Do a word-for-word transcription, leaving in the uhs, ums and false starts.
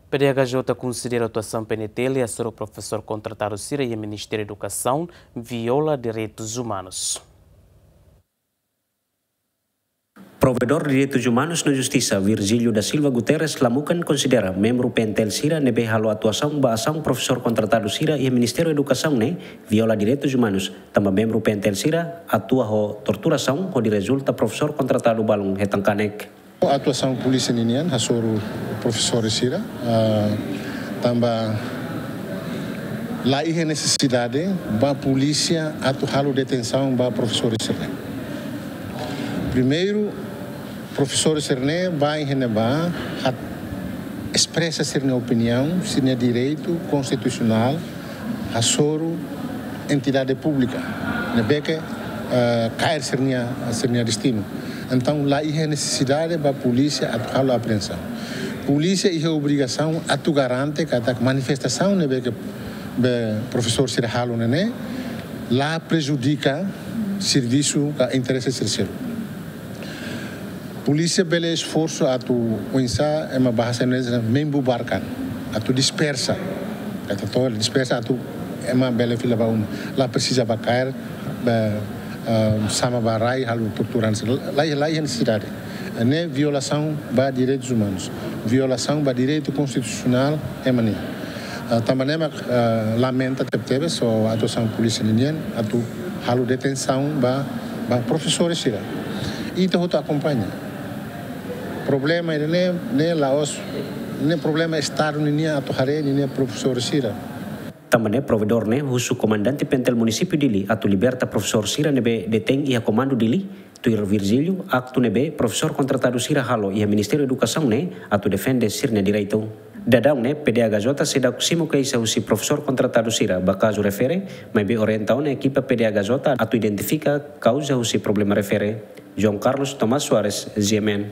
PDHJ konsidera atuasaun PNTL hasoru profesór kontratadu sira iha Ministériu Edukasaun viola direitus umanus. Provedór Direitus Umanus no Justisa, Virgílio da Silva Guterres, Lamukan, konsidera membru PNTL sira ne'ebé halo atuasaun ba asaun profesór kontratadu sira iha Ministériu Edukasaun ne'e viola direitus umanus, tanba membru PNTL sira atua ho torturasaun hodi rezulta profesór kontratadu balun hetan kanek. Atuasaun polísia ninian hasoru profesór sira, ah, tanba la iha nesesidade ba polísia atu halo detensaun ba profesór sira-ne'e. Primeiru, profesór sira-ne'e ba iha ne'ebá atu espresa sira-nia opiniaun, sira-nia direitu konstitusionál, hasoru entidade públika ne'ebé ke, eh, kaer sira-nia, sira-nia destinu. Entaun, la iha nesesidade ba polísia atu halo apreensaun. Polísia iha obrigasaun atu garante katak manifestasaun ne'ebé ke be profesór sira halo ne'e ne'e la prejudika servisu ka interese sira seluk. Polísia bele esforsu atu oinsá ema bahasa Indonesia membubarkan, atu dispersa. Atu to dispersa atu ema bele fila ba uma. La presiza ba kaer, ba, ah, sama ba rai, halo tortura, la, la iha nesesidade. Ne'e violasaun ba direitus umanus, violasaun ba direitu konstitusionál ema nian. Ah, tanba ne'e mak, ah, lamenta tebetebes ho atuasaun polísia ninian atu halo detensaun ba, ba profesór sira. Ita hotu akompaña. Problema ida-ne'e, ne'e la'ós, ne'e problema Estadu ninian atu haree ninia profesór sira. Tanba ne'e provedór ne'e husu komandante PNTL Munisípiu Dili atu liberta profesór sira ne'ebé detein iha komandu Dili, tuir Virgílio, aktu ne'ebé profesór kontratadu sira halo iha Ministériu Edukasaun ne'e atu defende sira-nia direitu. Daudaun ne'e, PDHJ seidauk simu keixa husi profesór kontratadu sira ba kazu refere, maibé orienta ona ekipa PDHJ atu identifika kauza husi problema refere. João Carlos Tomás Soares, GMN.